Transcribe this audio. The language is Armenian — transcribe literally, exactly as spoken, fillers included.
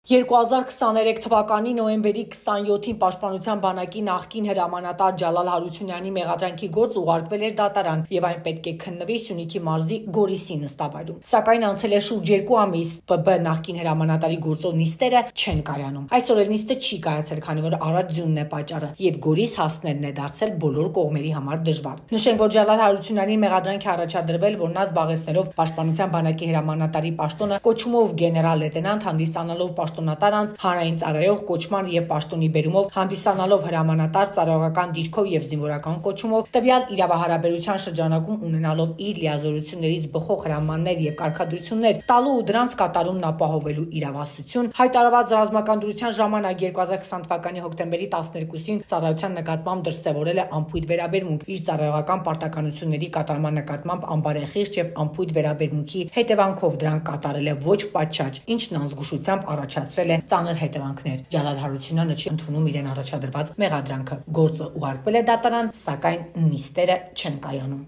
երկու հազար քսաներեք թվականի նոյեմբերի քսանյոթին Պաշտպանության բանակի նախկին հրամանատար Ջալալ Հարությունյանի մեղադրանքի գործ ուղարկվել էր դատարան եւ այն պետք է քննվի Սյունիքի մարզի Գորիսի նստավայրում։ Սակայն անցել է շուրջ երկու ամիս, Բ Բ նախկին հրամանատարի գործով նիստերը չեն կայանում։ Այսօր էլ նիստը չի կայացել, քանի որ առատ ձյունն է պատճառը եւ Գորիս հասնելն է դարձել բոլոր կողմերի համար դժվար։ Նշենք, որ Ջալալ Հարությունյանի մեղադրանքի առաջադրվել, որ նա զբաղեցնելով Պաշտպանության բանակի հրամանատարի պաշտոնը կոչումով գեներալ լեյտենանտ հանդիսանալով պաշտոնատար անձ հանրային ծառայող կոչման եւ պաշտոնի բերումով հանդիսանալով հրամանատար ծառայողական դիրքով եւ զինվորական կոչումով տվյալ իրավահարաբերության շրջանակում ունենալով իր լիազորություններից բխող հրամաններ եւ կարգադրություններ տալու ու դրանց կատարումն ապահովելու իրավասություն հայտարարված ռազմական դրության ժամանակ երկու հազար քսան թվականի հոկտեմբերի տասներկուսին ծառայության նկատմամբ դրսևորել է անփույթ վերաբերմունք իր ծառայողական պարտականությունների կատարման նկատմամբ անբարեխիղճ եւ անփույթ վերաբերմունքի հետևանքով դրանք կատարել է ոչ պատշաճ, ինչն անզգուշությամբ առաջացրել է ծանր հետևանքներ։ Ջալալ Հարությունյանը չի ընդունում իրեն առաջադրված մեղադրանքը։ Գործը ուղարկվել է դատարան, սակայն նիստերը չեն կայանում։